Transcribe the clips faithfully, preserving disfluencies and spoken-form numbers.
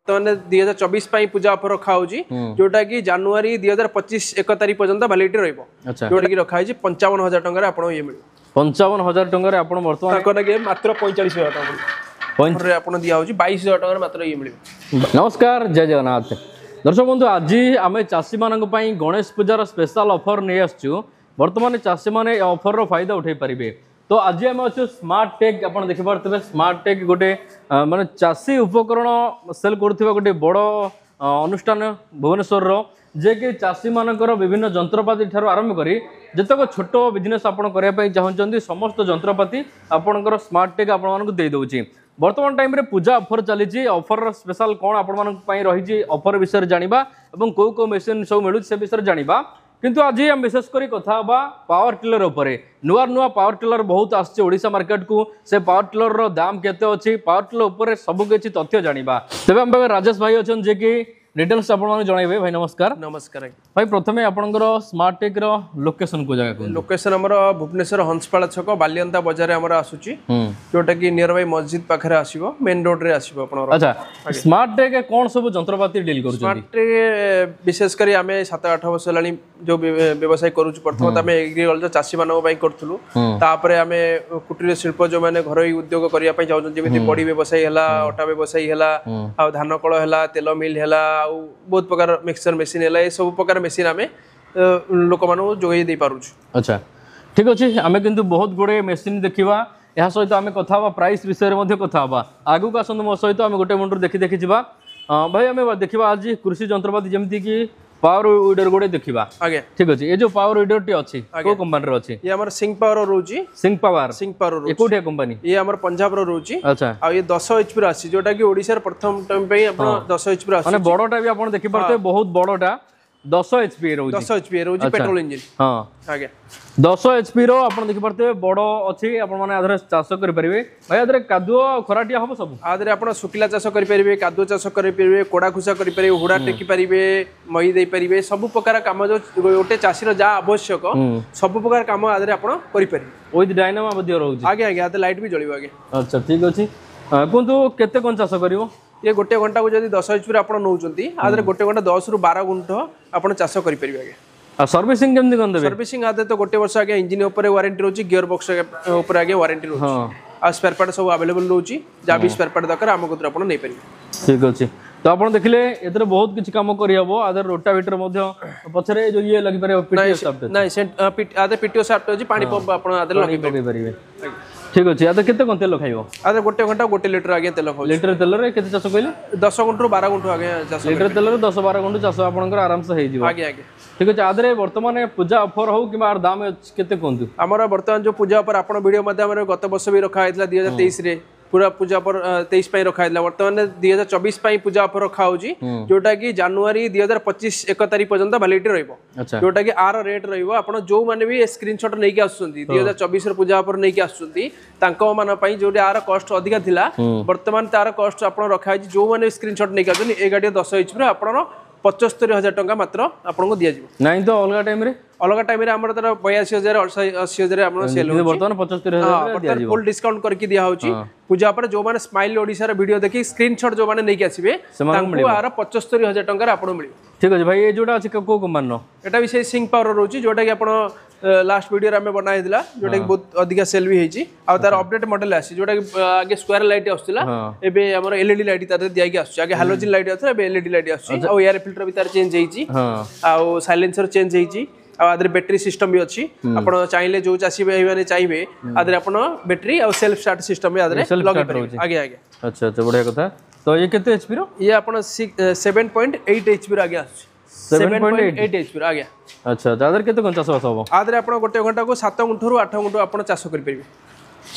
ବର୍ତ୍ତମାନ ଦୁଇ ହଜାର ଚବିଶ ପାଇଁ ପୂଜା ଅଫର ରଖା ହଉଛି ଯୋଉଟା କି ଜାନୁଆରୀ ଦୁଇ ହଜାର ପଚିଶ ଏକ ତାରିଖ ପର୍ଯ୍ୟନ୍ତ ଭାଲିଡିଟି ରହିବ ଆଚ୍ଛା ଯୋଉଟା କି ରଖା ହେଇଛି ପଞ୍ଚାବନ ହଜାର ଟଙ୍କାରେ ଆପଣ ଇଏ ମିଳିବ ପଞ୍ଚାବନ ହଜାର ଟଙ୍କାରେ ଆପଣ ବର୍ତ୍ତମାନ ତାଙ୍କ ନାଗି ମାତ୍ର ପଇଁଚାଳିଶ ହଜାର ଟଙ୍କା ପଡ଼ିବ ପଞ୍ଚ ଅଫରରେ ଆପଣ ଦିଆହଉଛି ବାଇଶ ହଜାର ଟଙ୍କାରେ ମାତ୍ର ଇଏ ମିଳିବ ନମସ୍କାର ଜୟ ଜଗନ୍ନାଥ ଦର୍ଶକ ବନ୍ଧୁ ଆଜି ଆମେ ଚାଷୀମାନଙ୍କ ପାଇଁ ଗଣେଶ ପୂଜାର ସ୍ପେଶାଲ ଅଫର ନେଇ ଆସିଛୁ ବର୍ତ୍ତମାନ ଚାଷୀମାନେ ଏ ଅଫରର ଫାଇଦା ଉଠାଇ ପାରିବେ ତ ଆଜି ଆମେ ଅଛୁ ସ୍ମାର୍ଟ ଟେକ୍ ଆପଣ ଦେଖିପାରୁଥିବେ ସ୍ମାର୍ଟ ଟେକ୍ ଗୋଟେ ଅ, ମାନେ ଚାଷୀ ଉପକରଣ ସେଲ୍ କରୁଥିବା ଗୋଟେ ବଡ଼ ଅ, ଅନୁଷ୍ଠାନ ଭୁବନେଶ୍ୱରର ଯିଏକି ଚାଷୀମାନଙ୍କର ବିଭିନ୍ନ ଯନ୍ତ୍ରପାତି ଠାରୁ ଆରମ୍ଭ କରି ଯେତେକ ଛୋଟ ବିଜନେସ୍ ଆପଣ କରିବା ପାଇଁ ଚାହୁଁଛନ୍ତି ସମସ୍ତ ଯନ୍ତ୍ରପାତି ଆପଣଙ୍କର ସ୍ମାର୍ଟ ଟେକ୍ ଆପଣମାନଙ୍କୁ ଦେଇଦେଉଛି ବର୍ତ୍ତମାନ ଟାଇମ୍ରେ ପୂଜା ଅଫର ଚାଲିଛି ଅଫରର ସ୍ପେଶାଲ କ'ଣ ଆପଣମାନଙ୍କ ପାଇଁ ରହିଛି ଅଫର ବିଷୟରେ ଜାଣିବା ଏବଂ କେଉଁ କେଉଁ ମେସିନ୍ ସବୁ ମିଳୁଛି ସେ ବିଷୟରେ ଜାଣିବା କିନ୍ତୁ ଆଜି ଆମେ ବିଶେଷ କରି କଥା ହେବା ପାୱାର ଟିଲର ଉପରେ ନୂଆ ନୂଆ ପାୱାର ଟିଲର ବହୁତ ଆସିଛି ଓଡ଼ିଶା ମାର୍କେଟକୁ ସେ ପାୱାର ଟିଲରର ଦାମ କେତେ ଅଛି ପାୱାର ଟିଲର ଉପରେ ସବୁ କିଛି ତଥ୍ୟ ଜାଣିବା ତେବେ ଆମ ପାଖରେ ରାଜେଶ ଭାଇ ଅଛନ୍ତି ଯିଏକି ଡିଟେଲ୍ସ ଆପଣମାନଙ୍କୁ ଜଣାଇବେ ଭାଇ ନମସ୍କାର ନମସ୍କାର ଆଜ୍ଞା ଭାଇ ପ୍ରଥମେ ଆପଣଙ୍କର ସ୍ମାର୍ଟ ଟେକ୍ର ଲୋକେସନ କୋଉ ଜାଗା କୁହନ୍ତୁ ଲୋକେସନ ଆମର ଭୁବନେଶ୍ୱର ହଂସପାଳ ଛକ ବାଲିଅନ୍ତା ବଜାରରେ ଆମର ଆସୁଛି ହୁଁ ଯୋଉଟା କି ନିୟର ବାଇ ମସଜିଦ ପାଖରେ ଆସିବ ମେନ୍ ରୋଡରେ ଆସିବ ଆପଣଙ୍କର ଆଚ୍ଛା ସ୍ମାର୍ଟ ଟେକ୍ କ'ଣ ସବୁ ଯନ୍ତ୍ରପାତି ଡିଲ୍ କରୁଛନ୍ତି ସ୍ମାର୍ଟରେ ବିଶେଷ କରି ଆମେ ସାତ ଆଠ ବର୍ଷ ହେଲାଣି ଯୋଉ ବ୍ୟ- ବ୍ୟବସାୟ କରୁଛୁ ପ୍ରଥମତ ଆମେ ଏଗ୍ରିକଲଚର ଚାଷୀମାନଙ୍କ ପାଇଁ କରୁଥିଲୁ ତାପରେ ଆମେ କୁଟୀର ଶିଳ୍ପ ଯୋଉମାନେ ଘରୋଇ ଉଦ୍ୟୋଗ କରିବା ପାଇଁ ଚାହୁଁଛନ୍ତି ଯେମିତି ବଡି ବ୍ୟବସାୟୀ ହେଲା ଅଟା ବ୍ୟବସାୟୀ ହେଲା ଆଉ ଧାନ କଳ ହେଲା ତେଲ ମିଲ୍ ହେଲା ଆଉ ବହୁତ ପ୍ରକାର ମିକ୍ସଚର ମେସିନ୍ ହେଲା ଏ ସବୁ ପ୍ରକାର ମେସିନ୍ ଆମେ ଅ, ଲୋକମାନଙ୍କୁ ଯୋଗାଇ ଦେଇପାରୁଛୁ ଆଚ୍ଛା ଠିକ ଅଛି ଆମେ କିନ୍ତୁ ବହୁତ ଗୁଡ଼ିଏ ମେସିନ୍ ଦେଖିବା ଏହା ସହିତ ଆମେ କଥା ହେବା ପ୍ରାଇସ୍ ବିଷୟରେ ମଧ୍ୟ କଥା ହେବା ଆଗକୁ ଆସନ୍ତୁ ମୋ ସହିତ ଆମେ ଗୋଟେ ମୁଣ୍ଡରୁ ଦେଖି ଦେଖି ଯିବା ଅ, ଭାଇ ଆମେ ଦେଖିବା ଆଜି କୃଷି ଯନ୍ତ୍ରପାତି ଯେମିତିକି ପାୱାର ୱିଡର ଗୋଟେ ଦେଖିବା ଆଜ୍ଞା ଠିକ ଅଛି ଏ ଯୋଉ ପାୱାର ୱିଡରଟି ଅଛି କୋଉ କମ୍ପାନୀର ଅଛି ଇଏ ଆମର ସିଂ ପାୱାର ରହୁଛି ସିଂ ପାୱାର ସିଂ ପାୱାର ଏ ରହୁଛି କୋଉଠିଆ କମ୍ପାନୀ ଇଏ ଆମର ପଞ୍ଜାବର ରହୁଛି ଆଚ୍ଛା ଆଉ ଇଏ ଦଶ ଏଚପି ର ଆସିଛି ଯୋଉଟା କି ଓଡିଶାର ପ୍ରଥମ ଟାଇମ ପାଇଁ ଆପଣ ଦଶ ଏଚପି ର ମାନେ ଆସୁଛି ବଡଟା ବି ଆପଣ ଦେଖିପାରୁଥିବେ ବହୁତ ବଡଟା ଦଶ ଏଚପି ରହୁଛି ଦଶ ଏଚପି ରହୁଛି ପେଟ୍ରୋଲ ଇଞ୍ଜିନ ହଁ ଆଜ୍ଞା ଦଶ ଏଚପି ର ଆପଣ ଦେଖିପାରୁଥିବେ ବଡ ଅଛି ଆପଣ ମାନେ ଆଧାରେ ଚାଷ କରିପାରିବେ ଭାଇ ଆଧାରେ କାଦୁଅ ଆଉ ଖରାଟିଆ ହବ ସବୁ ଆ ଦେହରେ ଆପଣ ଶୁଖିଲା ଚାଷ କରିପାରିବେ କାଦୁଅ ଚାଷ କରିପାରିବେ କୋଡ଼ା ଖୁସା କରିପାରିବେ ହୁଡ଼ା ଟେକି ପାରିବେ ମଇ ଦେଇପାରିବେ ସବୁ ପ୍ରକାର କାମ ଯୋଉ ଗୋଟେ ଚାଷୀର ଯାହା ଆବଶ୍ୟକ ସବୁ ପ୍ରକାର କାମ ଆ ଦେହରେ ଆପଣ କରିପାରିବେ ୱିଥ୍ ଡାଇନାମା ମଧ୍ୟ ରହୁଛି ଆଜ୍ଞା ଆଜ୍ଞା ଆ ଦେହରେ ଲାଇଟ୍ ବି ଜଳିବ ଆଜ୍ଞା ଆଚ୍ଛା ଠିକ ଅଛି ଅ, କୁହନ୍ତୁ କେତେ କଣ ଚାଷ କରିବ ଇଏ ଗୋଟେ ଘଣ୍ଟାକୁ ଯଦି ଦଶ ଏଚପି ଆପଣ ନେଉଛନ୍ତି ଆ ଦେହରେ ଗୋଟେ ଘଣ୍ଟା ଦଶରୁ ବାର ଗୁଣ୍ଠ ଆପଣ ଚାଷ କରିପାରିବେ ଆଜ୍ଞା ଆଉ ସର୍ଭିସିଂ କେମିତି କଣ ଦେବେ ସର୍ଭିସିଂ ଆ ଦେହରେ ତ ଗୋଟେ ବର୍ଷ ଆଜ୍ଞା ଇଞ୍ଜିନ ଉପରେ ୱାରେଣ୍ଟି ରହୁଛି ଗିୟର ବକ୍ସ ଉପରେ ଆଜ୍ଞା ୱାରେଣ୍ଟି ରହୁଛି ହଁ ଆଉ ସ୍ପେୟାର ପାର୍ଟ ସବୁ ଆଭେଲେବଲ ରହୁଛି ଯାହା ବି ସ୍ପେୟାର ପାର୍ଟ ଦରକାର ଆମ କତିରୁ ଆପଣ ନେଇପାରିବେ ଠିକ ଅଛି ତ ଆପଣ ଦେଖିଲେ ଏଥିରେ ବହୁତ କିଛି କାମ କରିହବ ଆଧାର ରୋଟାଭେଟର ମଧ୍ୟ ପଛରେ ଯୋଉ ଇଏ ଲାଗିପାରିବ ପିଟିଓ ସାଫ୍ଟ ନାଇଁ ସେ ଆ ଦେହରେ ପିଟିଓ ସାଫ୍ଟ ଅଛି ପାଣି ପମ୍ପ ଆପଣ ଆ ଦେହରେ ଲଗେଇ ପକେଇ ପାରିବେ ଠିକ ଅଛି ଆଧାର କେତେ କଣ ତେଲ ଖାଇବ ଆ ଦେହରେ ଗୋଟେ ଘଣ୍ଟା ଗୋଟେ ଲିଟର ଆଜ୍ଞା ତେଲ ଖାଉଛି ଲିଟର ତେଲରେ କେତେ ଚାଷ କହିଲେ ଦଶ ଗୁଣ୍ଠରୁ ବାର ଗୁଣ୍ଠ ଆଜ୍ଞା ଚାଷ ଲିଟର ତେଲରେ ଦଶ ବାର ଗୁଣ୍ଠ ଚାଷ ଆପଣଙ୍କର ଆରାମସେ ହେଇଯିବ ଆଜ୍ଞା ଆଜ୍ଞା ଠିକ ଅଛି ଆଧାରେ ବର୍ତ୍ତମାନ ପୂଜା ଅଫର ହଉ କିମ୍ବା ଆର ଦାମ ଅଛି କେତେ କୁହନ୍ତୁ ଆମର ବର୍ତ୍ତମାନ ଯୋଉ ପୂଜା ଅଫର ଆପଣ ଭିଡ଼ିଓ ମାଧ୍ୟମରେ ଗତ ବର୍ଷ ବି ରଖା ହେଇଥିଲା ଦୁଇ ହଜାର ତେଇଶରେ ପୁରା ପୂଜା ଅଫର ତେଇଶ ପାଇଁ ରଖା ହେଇଥିଲା ବର୍ତ୍ତମାନ ଦୁଇ ହଜାର ଚବିଶ ପାଇଁ ପୂଜା ଅଫର ରଖା ହଉଛି ଯୋଉଟା କି ଜାନୁଆରୀ ଦୁଇ ହଜାର ପଚିଶ ଏକ ତାରିଖ ପର୍ଯ୍ୟନ୍ତ ଭାଲିଡିଟି ରହିବ ଆଚ୍ଛା ଯୋଉଟା କି ଆର ରେଟ୍ ରହିବ ଆପଣ ଯୋଉମାନେ ବି ସ୍କ୍ରିନଶଟ ନେଇକି ଆସୁଛନ୍ତି ଦୁଇ ହଜାର ଚବିଶର ପୂଜା ଅଫର ନେଇକି ଆସୁଛନ୍ତି ତାଙ୍କ ମାନଙ୍କ ପାଇଁ ଯୋଉଠି ଆର କଷ୍ଟ ଅଧିକା ଥିଲା ବର୍ତ୍ତମାନ ତାର କଷ୍ଟ ଆପଣ ରଖା ହେଇଛି ଯୋଉମାନେ ସ୍କ୍ରିନଶଟ ନେଇକି ଆସୁଛନ୍ତି ଏ ଗାଡ଼ି ଦଶ ଏଚପିର ଆପଣର ପଚସ୍ତରୀ ହଜାର ଟଙ୍କା ମାତ୍ର ଆପଣଙ୍କୁ ଦିଆଯିବ ନାଇଁ ତ ଅଲଗା ଟାଇମରେ ଅଲଗା ଟାଇମରେ ଆମର ତାର ବୟାଅଶୀ ହଜାର ଅଶୀ ହଜାର ଆପଣ ସେଲ୍ କିନ୍ତୁ ବର୍ତ୍ତମାନ ପଚସ୍ତରୀ ହଜାର ବର୍ତ୍ତମାନ ଫୁଲ୍ ଡିସକାଉଣ୍ଟ କରିକି ଦିଆହଉଛି ପୂଜା ପରେ ଯୋଉମାନେ ସ୍ମାଇଲ ଓଡ଼ିଶାର ଭିଡ଼ିଓ ଦେଖି ସ୍କ୍ରିନଶଟ ଯୋଉମାନେ ନେଇକି ଆସିବେ ସେମାନଙ୍କୁ ତାଙ୍କୁ ଆର ପଚସ୍ତରୀ ହଜାର ଟଙ୍କାରେ ଆପଣଙ୍କୁ ମିଳିବ ଠିକ ଅଛି ଭାଇ ଏ ଯୋଉଟା ଅଛି କୋଉ କମ୍ପାନୀର ଏଟା ବି ସେଇ ସିଂ ପାୱାର ରହୁଛି ଯୋଉଟା କି ଆପଣ ଲାଷ୍ଟ ଭିଡ଼ିଓରେ ଆମେ ବନା ହେଇଥିଲା ଯୋଉଟା କି ବହୁତ ଅଧିକା ସେଲ୍ ବି ହେଇଛି ଆଉ ତାର ଅପଡେଟ୍ ମଡେଲ ଆସିଛି ଯୋଉଟା କି ଆଗେ ସ୍କୋୟାର ଲାଇଟ୍ ଆସୁଥିଲା ଏବେ ଆମର ଏଲଇଡି ଲାଇଟ୍ ତାର ଦିଆଇକି ଆସୁଛି ଆଗେ ହାଲୋଜିନ୍ ଲାଇଟ୍ ଆସୁଥିଲା ଏବେ ଏଲଇଡି ଲାଇଟ୍ ଆସୁଛି ଆଉ ଏୟାର ଫିଲ୍ଟର ବି ତାର ଚେଞ୍ଜ ହେଇଛି ହଁ ଆଉ ସାଇଲେନ୍ସର ଚେଞ୍ଜ ହେଇଛି ଆଉ ଆଦେହରେ ବ୍ୟାଟେରୀ ସିଷ୍ଟମ ବି ଅଛି ଆପଣ ଚାହିଁଲେ ଯୋଉ ଚାଷୀ ଭାଇମାନେ ଚାହିଁବେ ଆଦେହରେ ଆପଣ ବ୍ୟାଟେରୀ ଆଉ ସେଲ୍ଫ ଷ୍ଟାର୍ଟ ସିଷ୍ଟମ ବି ଆଦେହରେ self ଲଗେଇ start ପାରିବେ ରହୁଛି। ଆଜ୍ଞା ଆଜ୍ଞା ଆଚ୍ଛା ଆଚ୍ଛା ବଢିଆ କଥା ତ ଇଏ କେତେ ଏଚପି ର ଇଏ ଆପଣ ସେଭେନ ପଏଣ୍ଟ ଏଇଟ୍ ଏଚପି ର ଆଜ୍ଞା ଆସୁଛି ସେଭେନ ପଏଣ୍ଟ ଏଇଟ୍ ଏଚପି ର ଆଜ୍ଞା ଆଚ୍ଛା ଆଚ୍ଛା ଆଧାରେ କେତେ କଣ ଚାଷବାସ ହବ ଆଦେହରେ ଆପଣ ଗୋଟେ ଘଣ୍ଟାକୁ ସାତ ଗୁଣ୍ଠରୁ ଆଠ ଗୁଣ୍ଠ ଆପଣ ଚାଷ କରିପାରିବେ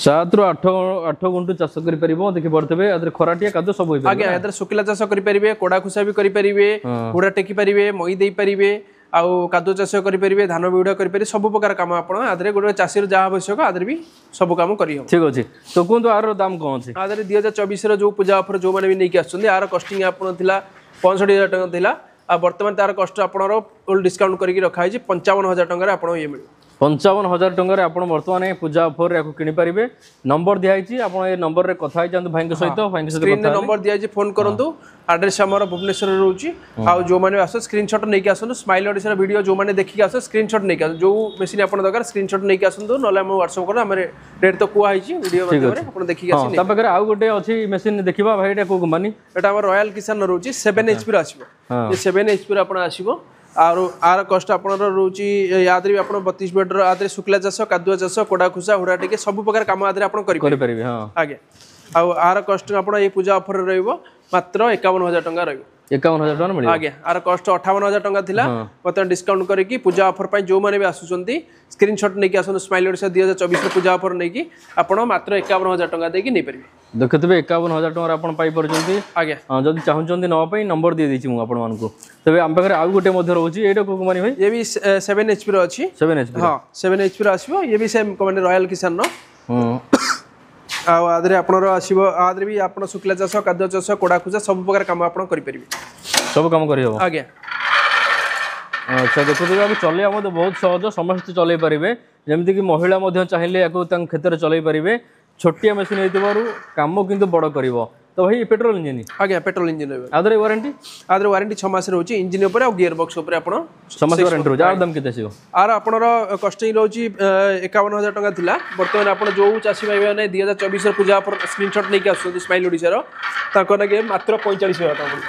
ସାତରୁ ଆଠ ଆଠ ଗୁଣ୍ଠ ଚାଷ କରିପାରିବ ଦେଖିପାରୁଥିବେ ଆଧାରେ ଖରାଟିଆ କାଦୁଅ ସବୁ ହେଇପାରିବ ଆଜ୍ଞା ଏଥିରେ ଶୁଖିଲା ଚାଷ କରିପାରିବେ କୋଡ଼ା ଖୁସା ବି କରିପାରିବେ ହୁଡ଼ା ଟେକି ପାରିବେ ମଇ ଦେଇପାରିବେ ଆଉ କାଦୁଅ ଚାଷ କରିପାରିବେ ଧାନ ବିହୁଡ଼ା କରିପାରିବେ ସବୁ ପ୍ରକାର କାମ ଆପଣ ଆଦେହରେ ଗୋଟେ ଚାଷୀର ଯାହା ଆବଶ୍ୟକ ଆଦେହରେ ବି ସବୁ କାମ କରିହେବ ଠିକ ଅଛି ତ କୁହନ୍ତୁ ଆର ଦାମ କଣ ଅଛି ଆଦେହରେ ଦୁଇ ହଜାର ଚବିଶର ଯୋଉ ପୂଜା ଅଫର ଯୋଉମାନେ ବି ନେଇକି ଆସୁଛନ୍ତି ଆର କଷ୍ଟିଂ ଆପଣ ଥିଲା ପଞ୍ଚଷଠି ହଜାର ଟଙ୍କା ଥିଲା ଆଉ ବର୍ତ୍ତମାନ ତାର କଷ୍ଟ ଆପଣଙ୍କର ଫୁଲ୍ ଡିସକାଉଣ୍ଟ କରିକି ରଖା ହେଇଛି ପଞ୍ଚାବନ ହଜାର ଟଙ୍କାରେ ଆପଣଙ୍କୁ ଇଏ ମିଳିବ ପଞ୍ଚାବନ ହଜାର ଟଙ୍କାରେ ଆପଣ ବର୍ତ୍ତମାନ ଏ ପୂଜା ଅଫରରେ ୟାକୁ କିଣିପାରିବେ ନମ୍ବର ଦିଆହେଇଛି ଆପଣ ଏ ନମ୍ବରରେ କଥା ହେଇଯାଆନ୍ତୁ ଭାଇଙ୍କ ସହିତ ଭାଇଙ୍କ ସହିତ ସ୍କ୍ରିନରେ ନମ୍ବର ଦିଆଯାଇଛି ଫୋନ୍ କରନ୍ତୁ ଆଡ୍ରେସ୍ ଆମର ଭୁବନେଶ୍ୱରରେ ରହୁଛି ଆଉ ଯେଉଁମାନେ ଆସ ସ୍କ୍ରିନଶଟ୍ ନେଇକି ଆସନ୍ତୁ ସ୍ମାଇଲ୍ ଓଡ଼ିଶାର ଭିଡ଼ିଓ ଯେଉଁମାନେ ଦେଖିକି ଆସ ସ୍କ୍ରିନଶଟ୍ ନେଇକି ଆସନ୍ତୁ ଯେଉଁ ମେସିନ୍ ଆପଣ ଦରକାର ସ୍କ୍ରିନଶଟ୍ ନେଇକି ଆସନ୍ତୁ ନହେଲେ ଆମ ହ୍ୱାଟ୍ସଆପ୍ କରନ୍ତୁ ଆମେ ରେଟ୍ ତ କୁହା ହେଇଛି ଭିଡ଼ିଓ ମାଧ୍ୟମରେ ଆପଣ ଦେଖିକି ହଁ ଆସି ତା ପାଖରେ ଆଉ ଗୋଟେ ଅଛି ମେସିନ୍ ଦେଖିବା ଭାଇ ଏଇଟା କୋଉ କମ୍ପାନୀ ଏଟା ଆମର ରୟାଲ କିଷାନ ରହୁଛି ସେଭେନ୍ ଏଚ୍ ର ଆସିବ ହଁ। ଏ ସେଭେନ୍ ଏଚ୍ ର ଆପଣ ଆସିବ ଆଉ ଆର କଷ୍ଟ ଆପଣଙ୍କର ରହୁଛି ୟା ଦେହରେ ବି ଆପଣ ବତିଶ ବେଡର ଆ ଦେହରେ ଶୁଖିଲା ଚାଷ କାଦୁଆ ଚାଷ କୋଡ଼ା ଖୁସା ହୁଡ଼ା ଟିକେ ସବୁ ପ୍ରକାର କାମ ଆ ଦେହରେ ଆପଣ କରିପାରିବେ କରିପାରିବେ ହଁ ଆଜ୍ଞା ଆଉ ଆର କଷ୍ଟ ଆପଣ ଏଇ ପୂଜା ଅଫରରେ ରହିବ ମାତ୍ର ଏକାବନ ହଜାର ଟଙ୍କା ରହିବ ଏକାବନ ହଜାର ଟଙ୍କା ମିଳିବ ଆଜ୍ଞା ଆର କଷ୍ଟ ଅଠାବନ ହଜାର ଟଙ୍କା ଥିଲା ବର୍ତ୍ତମାନ ଡିସକାଉଣ୍ଟ କରିକି ପୂଜା ଅଫର ପାଇଁ ଯେଉଁମାନେ ବି ଆସୁଛନ୍ତି ସ୍କ୍ରିନଶଟ୍ ନେଇକି ଆସନ୍ତୁ ସ୍ମାଇଲ୍ ଓଡ଼ିଶା ଦୁଇ ହଜାର ଚବିଶର ପୂଜା ଅଫର ନେଇକି ଆପଣ ମାତ୍ର ଏକାବନ ହଜାର ଟଙ୍କା ଦେଇକି ନେଇପାରିବେ ଦେଖୁଥିବେ ଏକାବନ ହଜାର ଟଙ୍କାରେ ଆପଣ ପାଇପାରୁଛନ୍ତି ଆଜ୍ଞା ହଁ, ଯଦି ଚାହୁଁଛନ୍ତି ନେବା ପାଇଁ ନମ୍ବର ଦେଇଦେଇଛି ମୁଁ ଆପଣମାନଙ୍କୁ ତେବେ ଆମ ପାଖରେ ଆଉ ଗୋଟେ ମଧ୍ୟ ରହୁଛି ଏଇଟା କୋଉ କମ୍ପାନୀ ଭାଇ ଇଏ ବି ସେଭେନ୍ ଏଚ୍ ର ଅଛି ସେଭେନ୍ ଏଚ୍ ପି ହଁ ସେଭେନ୍ ଏଚ୍ ର ଆସିବ ଇଏ ବି ସେମ୍ କମ୍ପାନୀ ରୟାଲ କିଷାନର ହୁଁ ଆଉ ଆ ଦେହରେ ଆପଣଙ୍କର ଆସିବ ଆ ଦେହରେ ବି ଆପଣ ଶୁଖିଲା ଚାଷ କାଦୁଆ ଚାଷ କୋଡ଼ା ଖୁସା ସବୁ ପ୍ରକାର କାମ ଆପଣ କରିପାରିବେ ସବୁ କାମ କରିହେବ ଆଜ୍ଞା ଆଚ୍ଛା ଦେଖୁଥିବେ ଆକୁ ଚଲେଇବା ମଧ୍ୟ ବହୁତ ସହଜ ସମସ୍ତେ ଚଲେଇ ପାରିବେ ଯେମିତିକି ମହିଳା ମଧ୍ୟ ଚାହିଁଲେ ୟାକୁ ତାଙ୍କ କ୍ଷେତରେ ଚଲେଇ ପାରିବେ ଛୋଟିଆ ମେସିନ୍ ହେଇଥିବାରୁ କାମ କିନ୍ତୁ ବଡ଼ କରିବ ତ ଭାଇ ପେଟ୍ରୋଲ ଇଞ୍ଜିନ୍ ଆଜ୍ଞା ପେଟ୍ରୋଲ ଇଞ୍ଜିନ୍ ରହିବ ଆ ଦେହରେ ୱାରେଣ୍ଟି ଆ ଦେହରେ ୱାରେଣ୍ଟି ଛଅ ମାସ ରହୁଛି ଇଞ୍ଜିନ୍ ଉପରେ ଆଉ ଗିୟର ବକ୍ସ ଉପରେ ଆପଣ ଛଅ ମାସ ୱାରେଣ୍ଟି ରହୁଛି ଆର ଦାମ କେତେ ଆସିବ ଆର ଆପଣର କଷ୍ଟିଂ ରହୁଛି ଏକାବନ ହଜାର ଟଙ୍କା ଥିଲା ବର୍ତ୍ତମାନ ଆପଣ ଯେଉଁ ଚାଷୀ ଭାଇମାନେ ଦୁଇ ହଜାର ଚବିଶର ପୂଜା ଅଫର ସ୍କ୍ରିନଶଟ୍ ନେଇକି ଆସୁଛନ୍ତି ସ୍ମାଇଲ୍ ଓଡ଼ିଶାର ତାଙ୍କ ନାଗି ମାତ୍ର ପଇଁଚାଳିଶ ହଜାର ଟଙ୍କା ପଡ଼ିବ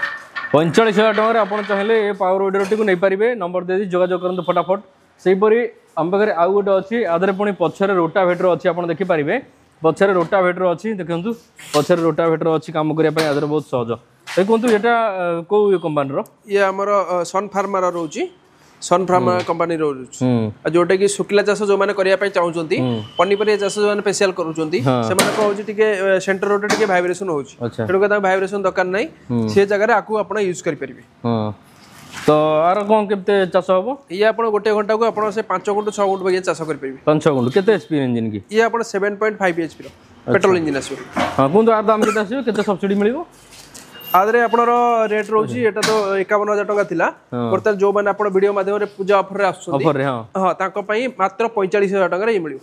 ପଇଁଚାଳିଶ ହଜାର ଟଙ୍କାରେ ଆପଣ ଚାହିଁଲେ ଏ ପାୱାର ୱିଡରଟିକୁ ନେଇପାରିବେ ନମ୍ବର ଦେଇଦେଇ ଯୋଗାଯୋଗ କରନ୍ତୁ ଫଟାଫଟ ସେହିପରି ଆମ ପାଖରେ ଆଉ ଗୋଟେ ଅଛି ଆ ଦେହରେ ପୁଣି ପଛରେ ରୋଟାଭେଟର ଅଛି ଆପଣ ଦେଖିପାରିବେ ପଛରେ ରୋଟାଭେଟର ଅଛି ଦେଖନ୍ତୁ ପଛରେ ରୋଟାଭେଟର ଅଛି କାମ କରିବା ପାଇଁ ଆ ଦେହରେ ବହୁତ ସହଜ ଏ କୁହନ୍ତୁ ଏଇଟା ଅ, କୋଉ କମ୍ପାନୀର ଇଏ ଆମର ସନ୍ ଫାର୍ମାର ରହୁଛି ସନ୍ ଫାର୍ମା କମ୍ପାନୀ ରହୁଛି ହୁଁ ଆଉ ଯୋଉଟା କି ଶୁଖିଲା ଚାଷ ଯୋଉମାନେ କରିବା ପାଇଁ ଚାହୁଁଛନ୍ତି ପନିପରିବା ଚାଷ ଯୋଉମାନେ ସ୍ପେଶିଆଲ କରୁଛନ୍ତି ସେମାନଙ୍କ ହଉଛି ଟିକେ ସେଣ୍ଟର ରୋଡରେ ଟିକେ ଭାଇବ୍ରେସନ ହଉଛି ଆଚ୍ଛା ତେଣୁ ତାଙ୍କୁ ଭାଇବ୍ରେସନ ଦରକାର ନାହିଁ ସେ ଜାଗାରେ ଆକୁ ଆପଣ ୟୁଜ୍ କରିପାରିବେ ହଁ ତ ଆର କ'ଣ କେତେ ଚାଷ ହବ ଇଏ ଆପଣ ଗୋଟେ ଘଣ୍ଟାକୁ ଆପଣ ସେ ପାଞ୍ଚ ଗୁଣ୍ଠୁ ଛଅ ଗୁଣ୍ଠୁ ବାଗିଆ ଚାଷ କରିପାରିବେ ପାଞ୍ଚ ଛଅ ଗୁଣ୍ଠୁ କେତେ ଏଚ୍ ପି ଇଞ୍ଜିନ୍ କି ଇଏ ଆପଣ ସେଭେନ୍ ପଏଣ୍ଟ ଫାଇଭ୍ ଏଚ୍ ର ପେଟ୍ରୋଲ ଇଞ୍ଜିନ୍ ଆସିବ ହଁ କୁହନ୍ତୁ ଆର ଦାମ କେତେ ଆସିବ କେତେ ସବସିଡି ମିଳିବ ଆ ଦେହରେ ଆପଣର ରେଟ୍ ରହୁଛି ଏଟା ତ ଏକାବନ ହଜାର ଟଙ୍କା ଥିଲା ବର୍ତ୍ତମାନ ଯୋଉମାନେ ଆପଣ ଭିଡ଼ିଓ ମାଧ୍ୟମରେ ପୂଜା ଅଫରରେ ଆସୁଛନ୍ତି ଅଫରରେ ହଁ ହଁ ତାଙ୍କ ପାଇଁ ମାତ୍ର ପଇଁଚାଳିଶ ହଜାର ଟଙ୍କାରେ ଇଏ ମିଳିବ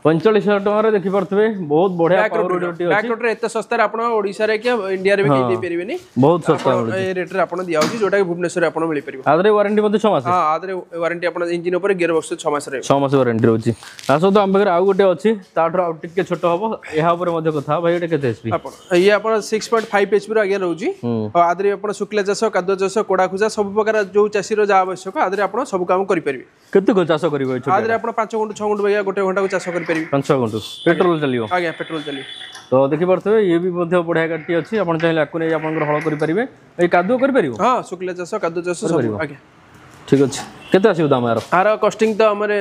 ପଇଁଚାଳିଶ ହଜାର ଟଙ୍କାରେ ଦେଖିପାରୁଥିବେ ବହୁତ ବଢିଆ ପାୱାର ୱିଡରଟି ଅଛି ବ୍ୟାକ୍ ରୋଟର ଏତେ ଶସ୍ତାରେ ଆପଣ ଓଡ଼ିଶାରେ କି ଇଣ୍ଡିଆରେ ବି କେହି ଦେଇପାରିବେନି ବହୁତ ଶସ୍ତା ଆପଣ ଏ ରେଟ୍ରେ ଆପଣ ଦିଆହଉଛି ଯୋଉଟା କି ଭୁବନେଶ୍ୱରରେ ଆପଣ ମିଳିପାରିବ ଆ ଦେହରେ ୱାରେଣ୍ଟି ମଧ୍ୟ ଛଅ ମାସ ହଁ ଆ ଦେହରେ ୱାରେଣ୍ଟି ଆପଣ ଇଞ୍ଜିନ୍ ଉପରେ ଗିୟର ବକ୍ସ ଛଅ ମାସ ରହିବ ଛଅ ମାସ ୱାରେଣ୍ଟି ରହୁଛି ତା ସହିତ ଆମ ପାଖରେ ଆଉ ଗୋଟେ ଅଛି ତାଠାରୁ ଆଉ ଟିକେ ଛୋଟ ହବ ଏହା ଉପରେ ମଧ୍ୟ କଥା ହବା। ଭାଇ ଏଇଟା କେତେ ଏଚ୍ ପି ଆପଣ ଇଏ ଆପଣ ସିକ୍ସ ପଏଣ୍ଟ ଫାଇଭ୍ ଏଚ୍ ର ଆଜ୍ଞା ରହୁଛି ଆଉ ଆ ଦେହରେ ଆପଣ ଶୁଖିଲା ଚାଷ କାଦୁଆ ଚାଷ କୋଡ଼ା ଖୁସା ସବୁ ପ୍ରକାର ଯୋଉ ଚାଷୀର ଯାହା ଆବଶ୍ୟକ ଆ ଦେହରେ ଆପଣ ସବୁ କାମ କରିପାରିବେ କେତେ କଣ ଚାଷ କରିବ ଏ ଛୋଟ ଆ ଦେହରେ ଆପଣ ପାଞ୍ଚ ଗୁଣ୍ଠୁ ଛଅ ଗୁଣ୍ଠୁ ବାଗିଆ ଗୋଟେ ଘଣ୍ଟାକୁ ଚାଷ କରିପାରିବେ ପାଞ୍ଚ ଛଅ ଗୁଣ୍ଠୁ ପେଟ୍ରୋଲ ଚାଲିବ ଆଜ୍ଞା ପେଟ୍ରୋଲ ଚାଲିବ ତ ଦେଖିପାରୁଥିବେ ଇଏ ବି ମଧ୍ୟ ବଢିଆ ଗାଡ଼ିଟି ଅଛି ଆପଣ ଚାହିଁଲେ ଆକୁ ନେଇ ଆପଣଙ୍କର ହଳ କରିପାରିବେ ଏଇ କାଦୁଅ କରିପାରିବ ହଁ ଶୁଖିଲା ଚାଷ କାଦୁଆ ଚାଷ ସବୁ ଆଜ୍ଞା ଠିକ ଅଛି କେତେ ଆସିବ ଦାମ ଏହାର ଆର କଷ୍ଟିଂ ତ ଆମର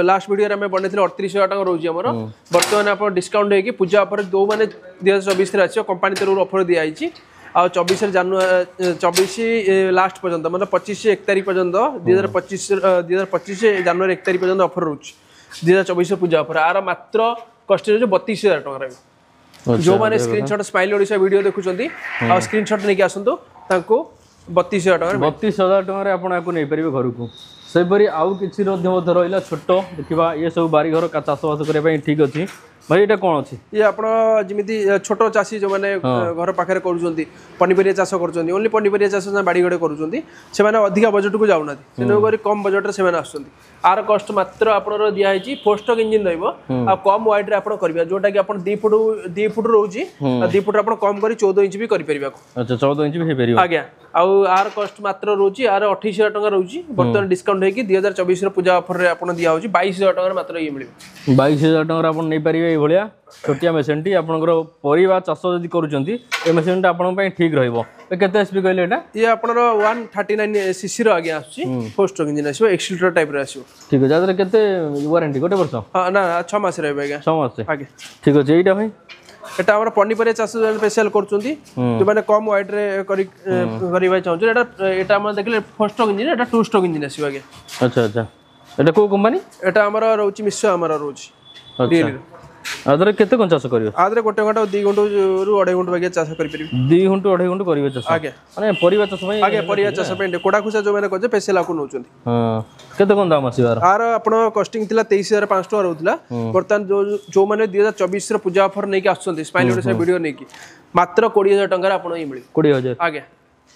ଲାଷ୍ଟ ଭିଡ଼ିଓରେ ଆମେ ବନେଇଥିଲେ ଅଠତିରିଶ ହଜାର ଟଙ୍କା ରହୁଛି ଆମର ବର୍ତ୍ତମାନ ଆପଣ ଡିସକାଉଣ୍ଟ ହେଇକି ପୂଜା ଅଫର ଯୋଉମାନେ ଦୁଇ ହଜାର ଚବିଶରେ ଆସିବ କମ୍ପାନୀ ତରଫରୁ ଅଫର ଦିଆହେଇଛି ଆଉ ଚବିଶରେ ଜାନୁଆରୀ ଚବିଶ ଲାଷ୍ଟ ପର୍ଯ୍ୟନ୍ତ ମାନେ ପଚିଶ ଏକ ତାରିଖ ପର୍ଯ୍ୟନ୍ତ ଦୁଇ ହଜାର ପଚିଶ ଦୁଇ ହଜାର ପଚିଶ ଜାନୁଆରୀ ଏକ ତାରିଖ ପର୍ଯ୍ୟନ୍ତ ଅଫର ରହୁଛି ଦୁଇ ହଜାର ଚବିଶ ପୂଜା ଅଫର ଆର ମାତ୍ର କଷ୍ଟିଂ ରହୁଛି ବତିଶ ହଜାର ଟଙ୍କା ରହିବ ଯୋଉମାନେ ସ୍କ୍ରିନଶଟ୍ ସ୍ମାଇଲ୍ ଓଡ଼ିଶା ଭିଡ଼ିଓ ଦେଖୁଛନ୍ତି ଆଉ ସ୍କ୍ରିନଶଟ୍ ନେଇକି ଆସନ୍ତୁ ତାଙ୍କୁ ବତିଶ ହଜାର ଟଙ୍କାରେ ବତିଶ ହଜାର ଟଙ୍କାରେ ଆପଣ ୟାକୁ ନେଇପାରିବେ ଘରକୁ ସେହିପରି ଆଉ କିଛି ମଧ୍ୟ ମଧ୍ୟ ରହିଲା ଛୋଟ ଦେଖିବା ଇଏ ସବୁ ବାରିଘର କା- ଚାଷବାସ କରିବା ପାଇଁ ଠିକ ଅଛି ଭାଇ ଏଇଟା କ'ଣ ଅଛି ଇଏ ଆପଣ ଯେମିତି ଛୋଟ ଚାଷୀ ଯୋଉମାନେ ଘର ପାଖରେ କରୁଛନ୍ତି ପନିପରିବା ଚାଷ କରୁଛନ୍ତି ଓନ୍ଲି ପନିପରିବା ଚାଷ ବାଡ଼ି ଘରେ କରୁଛନ୍ତି ସେମାନେ ଅଧିକା ବଜେଟକୁ ଯାଉନାହାନ୍ତି ତେଣୁକରି କମ୍ ବଜେଟରେ ସେମାନେ ଆସୁଛନ୍ତି ଆର କଷ୍ଟ ମାତ୍ର ଆପଣଙ୍କର ଦିଆହେଇଛି ଫୋର୍ ଷ୍ଟ୍ରୋକ୍ ଇଞ୍ଜିନ୍ ରହିବ ଆଉ କମ୍ ୱାଇଡ୍ରେ ଆପଣ କରିବେ ଯୋଉଟା କି ଆପଣ ଦି ଫୁଟ ଦି ଫୁଟ ରହୁଛି ଆଉ ଦି ଫୁଟ ଆପଣ କମ୍ କରି ଚଉଦ ଇଞ୍ଚ ବି କରିପାରିବେ ଆକୁ। ଆଚ୍ଛା ଚଉଦ ଇଞ୍ଚ ବି ହେଇପାରିବ ଆଜ୍ଞା ଆଉ ଆର କଷ୍ଟ ମାତ୍ର ରହୁଛି ଆର ଅଠେଇଶ ହଜାର ଟଙ୍କା ରହୁଛି ବର୍ତ୍ତମାନ ଡିସକାଉଣ୍ଟ ହେଇକି ଦୁଇ ହଜାର ଚବିଶର ପୂଜା ଅଫରରେ ଆପଣ ଦିଆହଉଛି ବାଇଶ ହଜାର ଟଙ୍କାରେ ମାତ୍ର ଇଏ ମିଳିବ ବାଇଶ ହଜାର ଟଙ୍କାରେ ଆପଣ ନେଇପାରିବେ ଏଇଭଳିଆ ଛୋଟିଆ ମେସିନ୍ଟି ଆପଣଙ୍କର ପରିବା ଚାଷ ଯଦି କରୁଛନ୍ତି ଏ ମେସିନ୍ଟା ଆପଣଙ୍କ ପାଇଁ ଠିକ୍ ରହିବ ଏ କେତେ ଏଚ୍ ପି କହିଲେ ଏଇଟା ଇଏ ଆପଣର ୱାନ୍ ଥାର୍ଟି ନାଇନ୍ ସିସିର ଆଜ୍ଞା ଆସୁଛି ଫୋର୍ ଷ୍ଟ୍ରୋକ୍ ଇଞ୍ଜିନ୍ ଆସିବ ଏକ୍ସିଲିଟର ଟାଇପ୍ର ଆସିବ ଠିକ୍ ଅଛି ଆ ଦେହରେ କେତେ ୱାରେଣ୍ଟି ଗୋଟେ ବର୍ଷ ହଁ ନା ଛଅ ମାସ ରହିବ ଆଜ୍ଞା ଛଅ ମାସ ଆଜ୍ଞା ଠିକ୍ ଅଛି ଏଇଟା ଭାଇ ଏଟା ଆମର ପନିପରିବା ଚାଷ ଯୋଉମାନେ ସ୍ପେଶାଲ କରୁଛନ୍ତି ଯୋଉମାନେ କମ୍ ୱାଇଡ୍ରେ କରି କରିବା ପାଇଁ ଚାହୁଁଛନ୍ତି ଏଟା ଏଟା ଆମର ଦେଖିଲେ ଫୋର୍ ଷ୍ଟ୍ରୋକ୍ ଇଞ୍ଜିନ୍ ଏଟା ଟୁ ଷ୍ଟ୍ରୋକ୍ ଇଞ୍ଜିନ୍ ଆସିବ ଆଜ୍ଞା ଆଚ୍ଛା ଆଚ୍ଛା ଏଇଟା କୋଉ କମ୍ପାନୀ ଏଟା ଆମର ରହୁଛି ମିଶୋ ଆମର ରହୁଛି ଆଚ୍ଛା ରିଏଲିର ଆଦେହରେ କେତେ କଣ ଚାଷ କରିବ ଆଦେହରେ ଗୋଟେ ଘଣ୍ଟା ଦୁଇ ଗୁଣ୍ଠରୁ ଅଢ଼େଇ ଗୁଣ୍ଠ ବାଗିଆ ଚାଷ କରିପାରିବେ ଦୁଇ ଗୁଣ୍ଠୁ ଅଢ଼େଇ ଗୁଣ୍ଠୁ କରିବେ ଚାଷ ଆଜ୍ଞା ମାନେ ପରିବା ଚାଷ ପାଇଁ ଆଜ୍ଞା ପରିବା ଚାଷ ପାଇଁ କୋଡ଼ା ଖୁସା ଯୋଉମାନେ କରୁଛନ୍ତି ସ୍ପେଶାଲ ଆକୁ ନେଉଛନ୍ତି ହଁ କେତେ କଣ ଦାମ ଆସିବ ଆର ଆର ଆପଣ କଷ୍ଟିଂ ଥିଲା ତେଇଶ ହଜାର ପାଞ୍ଚଶହ ଟଙ୍କା ରହୁଥିଲା ବର୍ତ୍ତମାନ ଯୋଉ ଯୋଉମାନେ ଦୁଇ ହଜାର ଚବିଶର ପୂଜା ଅଫର ନେଇକି ଆସୁଛନ୍ତି ସ୍ମାଇଲ ଓଡ଼ିଶା ଭିଡ଼ିଓ ନେଇକି ମାତ୍ର କୋଡ଼ିଏ ହଜାର ଟଙ୍କାରେ ଆପଣ ହିଁ ମିଳିବ କୋଡ଼ିଏ ହଜାର ଆଜ୍ଞା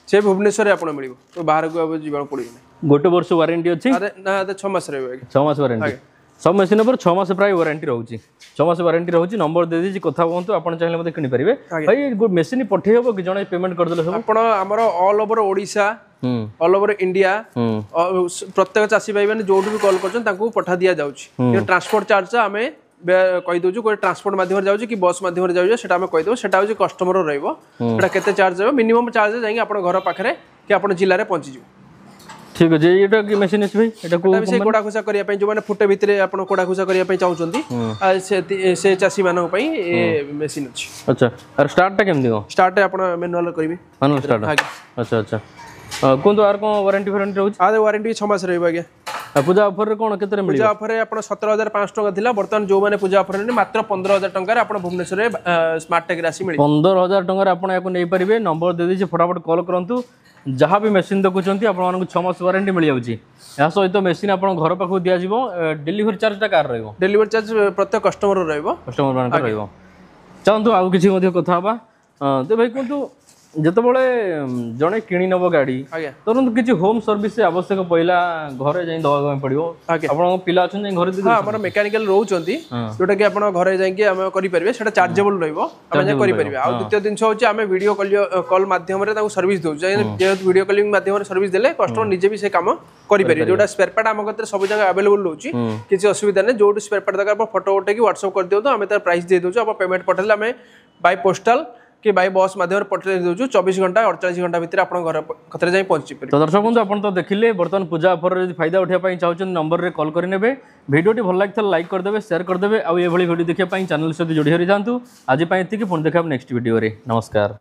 ସେ ଭୁବନେଶ୍ୱରରେ ଆପଣ ମିଳିବ ତ ବାହାରକୁ ଆଉ ଯିବାକୁ ପଡ଼ିବନି ଗୋଟେ ବର୍ଷ ୱାରେଣ୍ଟି ଅଛି ଆରେ ନା ଆରେ ଛଅ ମାସ ରହିବ ଆଜ୍ଞା ଛଅ ମାସ ୱାରେଣ୍ଟି ସବୁ ମେସିନ୍ ଉପରେ ଛଅ ମାସ ପ୍ରାୟ ୱାରେଣ୍ଟି ରହୁଛି ଛଅ ମାସ ୱାରେଣ୍ଟି ରହୁଛି ନମ୍ବର ଦେଇଦେଇଛି କଥା ହୁଅନ୍ତୁ ଆପଣ ଚାହିଁଲେ ମଧ୍ୟ କିଣିପାରିବେ ଭାଇ ମେସିନ୍ ପଠେଇ ହବ କି ଜଣେ ପେମେଣ୍ଟ କରିଦେଲେ ସବୁ ଆପଣ ଆମର ଅଲ୍ ଓଭର ଓଡ଼ିଶା ହୁଁ ଅଲ୍ ଓଭର ଇଣ୍ଡିଆ ହୁଁ ପ୍ରତ୍ୟେକ ଚାଷୀ ଭାଇମାନେ ଯୋଉଠୁ ବି କଲ୍ କରୁଛନ୍ତି ତାଙ୍କୁ ପଠା ଦିଆଯାଉଛି କିନ୍ତୁ ଟ୍ରାନ୍ସପୋର୍ଟ ଚାର୍ଜ ଆମେ ବେ- କହିଦେଉଛୁ ଗୋଟେ ଟ୍ରାନ୍ସପୋର୍ଟ ମାଧ୍ୟମରେ ଯାଉଛି କି ବସ୍ ମାଧ୍ୟମରେ ଯାଉଛି ସେଟା ଆମେ କହିଦେବୁ ସେଟା ହେଉଛି କଷ୍ଟମର ରହିବ ସେଟା କେତେ ଚାର୍ଜ ହେବ ମିନିମମ୍ ଚାର୍ଜ ଯାଇକି ଆପଣ ଘର ପାଖରେ କି ଆପଣ ଜିଲ୍ଲାରେ ପହଞ୍ଚିଯିବ ଠିକ ଅଛି ଏଇଟା କି ମେସିନ୍ ଅଛି ଭାଇ ଏଇଟା କୋଉ ଏଟା ବି ସେଇ କୋଡ଼ା ଖୁସା କରିବା ପାଇଁ ଯୋଉମାନେ ଫୁଟେ ଭିତରେ ଆପଣ କୋଡ଼ା ଖୁସା କରିବା ପାଇଁ ଚାହୁଁଛନ୍ତି ଆଉ ସେ ସେ ଚାଷୀମାନଙ୍କ ପାଇଁ ଏ ମେସିନ୍ ଅଛି ଆଚ୍ଛା ଆର ଷ୍ଟାର୍ଟଟା କେମିତି କଣ ଷ୍ଟାର୍ଟ ଆପଣ ମ୍ୟାନୁଆଲ କରିବେ ମାନୁଆଲ ଷ୍ଟାର୍ଟ ଆଜ୍ଞା ଆଚ୍ଛା ଆଚ୍ଛା ଅ, କୁହନ୍ତୁ ଆର କଣ ୱାରେଣ୍ଟି ଫାରେଣ୍ଟି ରହୁଛି ଆରେ ୱାରେଣ୍ଟି ଛଅ ମାସ ରହିବ ଆଜ୍ଞା ଆଉ ପୂଜା ଅଫରରେ କଣ କେତେରେ ମିଳିବ ପୂଜା ଅଫରରେ ଆପଣ ସତର ହଜାର ପାଞ୍ଚଶହ ଟଙ୍କା ଥିଲା ବର୍ତ୍ତମାନ ଯୋଉମାନେ ପୂଜା ଅଫରରେ ନେବେ ମାତ୍ର ପନ୍ଦର ହଜାର ଟଙ୍କାରେ ଆପଣ ଭୁବନେଶ୍ୱରରେ ସ୍ମାର୍ଟ ଟେକ୍ରେ ଆସି ମିଳିବ ପନ୍ଦର ହଜାର ଟଙ୍କାରେ ଆପଣ ୟାକୁ ନେଇପାରିବେ ନମ୍ବର ଦେଇଦେଇଛି ଫଟାଫଟ କଲ୍ କରନ୍ତୁ ଯାହା ବି ମେସିନ୍ ଦେଖୁଛନ୍ତି ଆପଣମାନଙ୍କୁ ଛଅ ମାସ ୱାରେଣ୍ଟି ମିଳିଯାଉଛି ଏହା ସହିତ ମେସିନ୍ ଆପଣ ଘର ପାଖକୁ ଦିଆଯିବ ଡେଲିଭରି ଚାର୍ଜଟା କାହାର ରହିବ ଡେଲିଭରି ଚାର୍ଜ ପ୍ରତ୍ୟେକ କଷ୍ଟମର ରହିବ କଷ୍ଟମର ମାନଙ୍କର ରହିବ ଚାଲନ୍ତୁ ଆଉ କିଛି ମଧ୍ୟ କଥା ହେବା ତ ଭାଇ କୁହନ୍ତୁ ଯେତେବେଳେ ଉମ୍, ଜଣେ କିଣି ନେବ ଗାଡ଼ି ଆଜ୍ଞା ଧରନ୍ତୁ କିଛି ହୋମ୍ ସର୍ଭିସ ଆବଶ୍ୟକ ପଇଲା ଘରେ ଯାଇ ଦେବା ପାଇଁ ପଡ଼ିବ ଆଜ୍ଞା। ଆପଣଙ୍କ ପିଲା ଅଛନ୍ତି ଯାଇ ଘରେ ଦେଇ ହଁ ଆମର ମେକାନିକାଲ ରହୁଛନ୍ତି ହଁ। ଯୋଉଟା କି ଆପଣ ଘରେ ଯାଇକି ଆମେ କରିପାରିବେ ସେଟା ଚାର୍ଜେବଲ ରହିବ ଆମେ ଯାଇ କରିପାରିବେ ଆଉ ଦ୍ୱିତୀୟ ଜିନିଷ ହଉଛି ଆମେ ଭିଡ଼ିଓ କଲ୍ କଲ୍ ମାଧ୍ୟମରେ ତାଙ୍କୁ ସର୍ଭିସ ଦଉଛୁ ଯେହେତୁ ଭିଡ଼ିଓ କଲିଂ ମାଧ୍ୟମରେ ସର୍ଭିସ ଦେଲେ କଷ୍ଟମର ନିଜେ ବି ସେ କାମ କରିପାରିବେ ଯୋଉଟା ସ୍ପେୟାର ପାର୍ଟ ଆମ କତିରେ ସବୁ ଜାଗା ଆଭେଲେବଲ ରହୁଛି କିଛି ଅସୁବିଧା ନାହିଁ ଯୋଉଠି ସ୍ପେୟାର ପାର୍ଟ ଦରକାର ଆପଣ ଫଟୋ ଉଠେଇକି ହ୍ୱାଟ୍ସଆପ୍ କରିଦିଅନ୍ତୁ ଆମେ ତାର ପ୍ରାଇସ୍ ଦେଇ ଦଉଛୁ ଆପଣ ପେମେଣ୍ଟ ପଠେଇଲେ ଆମେ ବାଇ ପୋଷ୍ଟାଲ କି ବାଇ ବସ୍ ମାଧ୍ୟମରେ ପଠେଇ ଦଉଛୁ ଚବିଶ ଘଣ୍ଟା ଅଡ଼ଚାଳିଶ ଘଣ୍ଟା ଭିତରେ ଆପଣଙ୍କ ଘର କତିରେ ଯାଇ ପହଞ୍ଚି ପାରିବେ ତ ଦର୍ଶକ ବନ୍ଧୁ ଆପଣ ତ ଦେଖିଲେ ବର୍ତ୍ତମାନ ପୂଜା ଅଫରରେ ଯଦି ଫାଇଦା ଉଠାଇବା ପାଇଁ ଚାହୁଁଛନ୍ତି ନମ୍ବରରେ କଲ୍ କରିନେବେ ଭିଡ଼ିଓଟି ଭଲ ଲାଗିଥିଲେ ଲାଇକ୍ କରିଦେବେ ସେୟାର କରିଦେବେ ଆଉ ଏଭଳି ଭିଡ଼ିଓ ଦେଖିବା ପାଇଁ ଚ୍ୟାନେଲ ସହିତ ଯୋଡ଼ି ହୋଇ ରହିଥାନ୍ତୁ ଆଜି ପାଇଁ ଏତିକି ପୁଣି ଦେଖା ନେକ୍ସଟ ଭିଡ଼ିଓରେ ନମସ୍କାର